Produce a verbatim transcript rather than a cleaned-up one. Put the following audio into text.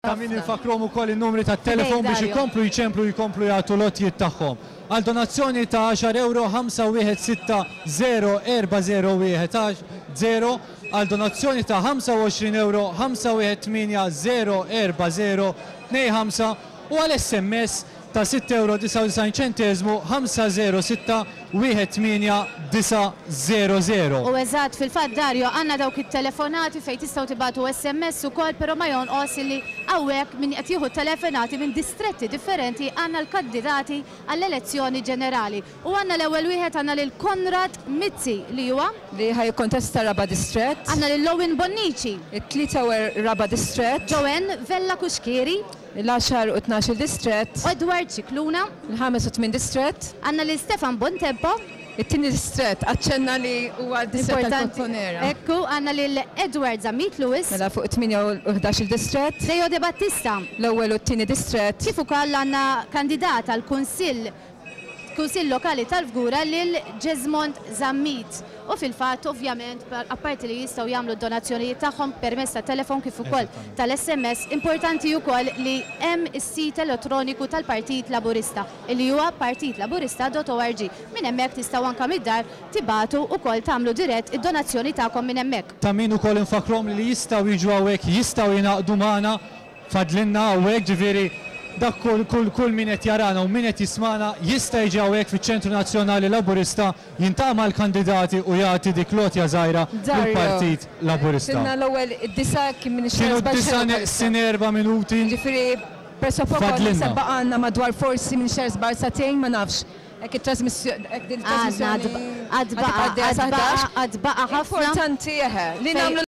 Ta' min infakkruhom ukoll in-numri tat-telefon biex ikomplu jċemplu, jkomplu jagħtu l-għotjiet tagħhom. Għal donazzjoni ta' għaxar ewro ħamsa wieħed sitta żero erba' żero wieħed żero, għal donazzjoni ta' ħamsa u għoxrin ewro ħamsa wieħed tmienja żero erba' żero tnejn ħamsa u għal S M S ta' sitt ewro disgħa u disgħin ċenteżmu ħamsa żero sitta wieħed tmienja disa' żero żero. U eżatt, fil-fatt Dario, għandna dawk it-telefonati fejn tistgħu tibagħtu S M S ukoll, però ma jonqos li hawnhekk min qed jieħu telefonati minn distretti differenti għandna l-kandidati għall-elezzjoni ġenerali. U għandna l-ewwel wieħed, għandna lil Konrad Mizzi li huwa li ħajkontesta raba' distrett. Għandna lil Owen Bonnici. It-tlieta u raba' distrett. Joanne Vella Cuschieri. L-għaxar u tnax-il distrett. Edward Scicluna. Il-ħames u tmien distrett. Għandna lil Stefan Bontempo. It-tieni distrett, aċċenna li huwa d-distrett Importanti. tal-Kottonera. Ekku, għandna lil Edward Zammit Lewis. Mela fuq tmienja u ħdax-il distrett. Leo De Battista. L-ewwel u t-tieni distrett. Kif ukoll għandna kandidat għal Kunsill, Kunsill Lokali tal-Fgura lil Jesmond Zammit. U fil-fatt, ovvjament, par-, apparti li jistgħu jagħmlu d-donazzjonijiet tagħhom permezz ta' telefon kif ukoll Eżattament. tal-S M S, importanti wkoll li hemm is-sit elettroniku tal-Partit Laburista, li huwa partit laburista dot org. Minn hemmhekk tistgħu anke mid-dar tibatu wkoll tagħmlu dirett id-donazzjoni tagħkom minn hemmhekk. Ta' min ukoll infakrom li jistgħu jiġu hawnhekk, jistgħu jingħaqdu magħna, fadlinna hawnhekk, ġifieri dak kull, kull, kull min qed jarana u min qed jismana jista' jiġi hawnhekk fiċ-Ċentru Nazzjonali Laburista, jiltaqa' mal-kandidati u jagħti dik lotja żgħira Dario, lill-Partit Laburista. Sinna l-ewwel id-disa kien minn Kienu xi d-disa seba' neqsin erba' minuti. Ġifieri presso poco Fadlinna. naħseb baqgħalna madwar forsi minn xi seba' sagħtejn, ma nafx. Hekk it-trasmissjoni, hekk din Għadna, it-trasmissjoni għad baqa', għad tibqa' għad baqa', ħdax. għad baqa' ħafna. Importanti eħe li Fej- nagħmlu